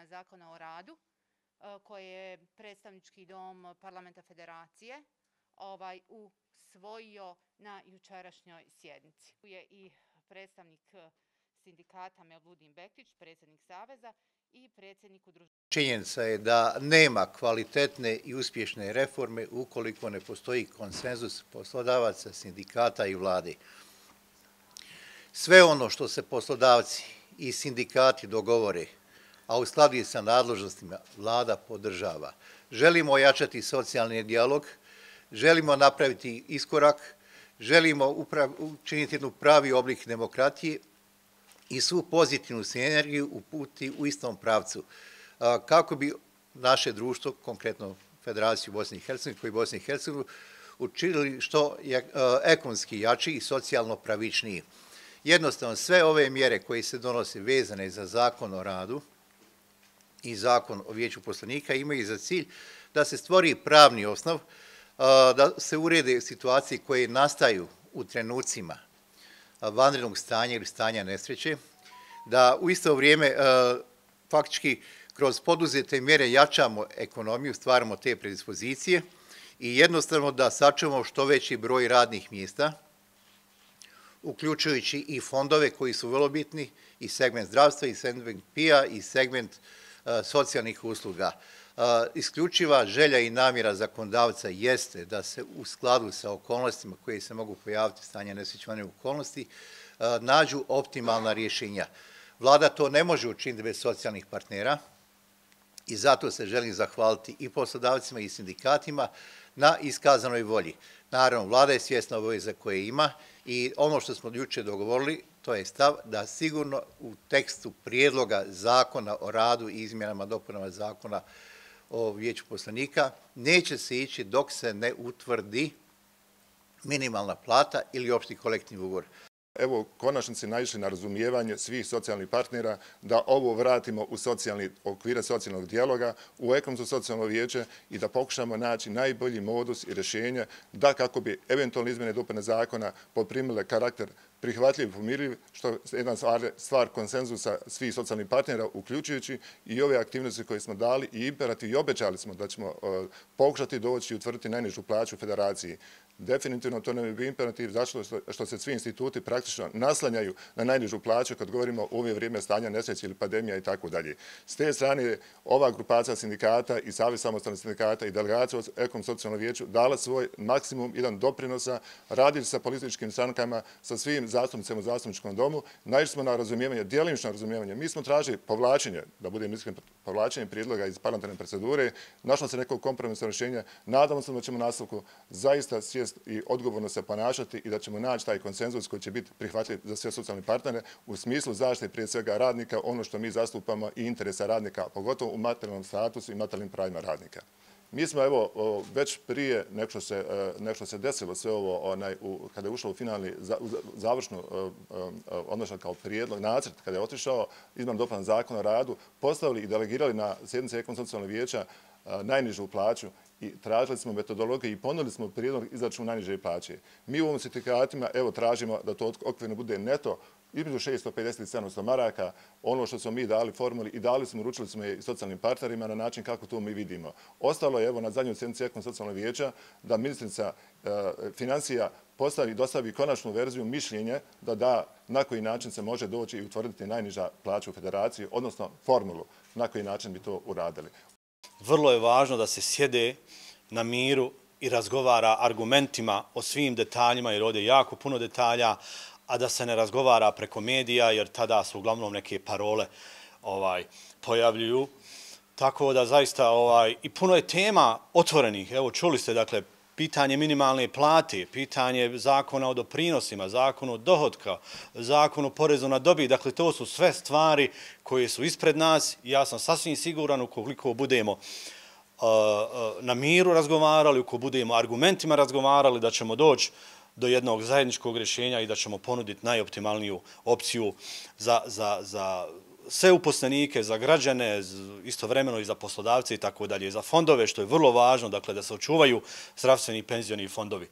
izmjena Zakona o radu koje je predstavnički dom Parlamenta Federacije usvojio na jučerašnjoj sjednici. Tu je i predstavnik sindikata Mevludin Bektić, predsjednik Saveza i predsjednik udruženja. Činjenica je da nema kvalitetne i uspješne reforme ukoliko ne postoji konsenzus poslodavaca, sindikata i vlade. Sve ono što se poslodavci i sindikati dogovore, a u skladu sa nadležnostima, vlada podržava. Želimo ojačati socijalni dijalog, želimo napraviti iskorak, želimo učiniti jednu pravi oblik demokratije i svu pozitivnu sinergiju uputiti u istom pravcu. Kako bi naše društvo, konkretno Federaciju Bosne i Hercegovine, koji Bosne i Hercegovine, učinili što je ekonomski jači i socijalno pravičniji. Jednostavno, sve ove mjere koje se donose vezane za Zakon o radu i Zakon o vijeću poslanika imaju za cilj da se stvori pravni osnov, da se urede situacije koje nastaju u trenucima vanrednog stanja ili stanja nesreće, da u isto vrijeme faktički kroz poduzete mjere jačamo ekonomiju, stvaramo te predispozicije i jednostavno da sačuvamo što veći broj radnih mjesta, uključujući i fondove koji su vrlo bitni, i segment zdravstva, i segment PIA, i segment socijalnih usluga. Isključiva želja i namjera zakonodavca jeste da se u skladu sa okolnostima koje se mogu pojaviti stanja nesrećenih okolnosti nađu optimalna rješenja. Vlada to ne može učiniti bez socijalnih partnera i zato se želim zahvaliti i poslodavcima i sindikatima na iskazanoj volji. Naravno, vlada je svjesna obaveza koje ima i ono što smo jučer dogovorili, to je stav da sigurno u tekstu prijedloga Zakona o radu i izmjenama dopunama Zakona o vijeću poslanika neće se ići dok se ne utvrdi minimalna plata ili opšti kolektivni ugovor. Evo, konačnici naišli na razumijevanje svih socijalnih partnera da ovo vratimo u okvire socijalnog dijaloga, u ekonomsko socijalno vijeće i da pokušamo naći najbolji modus i rješenje da kako bi eventualne izmjene i dopune zakona poprimile karakter prihvatljiv i pomirljiv, što je jedna stvar konsenzusa svih socijalnih partnera, uključujući i ove aktivnosti koje smo dali i imperativ i obećali smo da ćemo pokušati doći i utvrditi najnižu plaću u federaciji. Definitivno to nam je bio imperativ zato što se svi instituti praktično naslanjaju na najnižu plaću kad govorimo o ove vrijeme stanja nesreće ili pandemija i tako dalje. S te strane ova grupacija sindikata i Savez samostalnih sindikata i delegacija u ekonomskom socijalnom vijeću dala svoj maksimum, jedan doprinosa, radili sa političkim strankama, sa svim zastupnicima u zastupničkom domu, naišli smo na razumijevanje, djelomično razumijevanje. Mi smo tražili povlačenje, da budem iskren, povlačenje prijedloga iz parlamentarne procedure, našlo se nekog kompromisnog rješenja, nadamo se da ćemo nastavku zaista svijest i odgovorno se ponašati i da ćemo naći taj konsenzus koji će biti prihvatljiv za sve socijalne partnere u smislu zaštite prije svega radnika, ono što mi zastupamo i interesa radnika, pogotovo u materijalnom statusu i materijalnim pravima radnika. Mi smo evo već prije nešto se desilo sve ovo kada je ušlo u finalni završnu odnosno kao prijedlog nacrt kada je otišao izmjena dopuna Zakona o radu postavili i delegirali na sjednice ekonomskog socijalnog vijeća najnižu plaću i tražili smo metodologiju i ponudili smo prijedlog izračuna najniže plaće. Mi u ovom sindikatima evo tražimo da to okvirno bude neto između 650 i 700 maraka, ono što smo mi dali formuli i uručili smo je i socijalnim partnerima na način kako to mi vidimo. Ostalo je evo na zadnjoj sjednici ekonomskog socijalnog vijeća da ministrica financija dostavi konačnu verziju mišljenje da na koji način se može doći i utvrditi najniža plaća u federaciji, odnosno formulu na koji način bi to uradili. Vrlo je važno da se sjede na miru i razgovara argumentima o svim detaljima, jer ovdje je jako puno detalja, a da se ne razgovara preko medija, jer tada su uglavnom neke parole pojavljuju. Tako da zaista i puno je tema otvorenih. Evo, čuli ste, dakle, pitanje minimalne plate, pitanje zakona o doprinosima, zakon o dohotka, zakon o porezu na dobit. Dakle, to su sve stvari koje su ispred nas. Ja sam sasvim siguran ukoliko budemo na miru razgovarali, ukoliko budemo argumentima razgovarali, da ćemo doći do jednog zajedničkog rješenja i da ćemo ponuditi najoptimalniju opciju za sve uposlenike, za građane, istovremeno i za poslodavce i tako dalje, za fondove, što je vrlo važno, dakle, da se očuvaju zdravstveni i penzioni fondovi.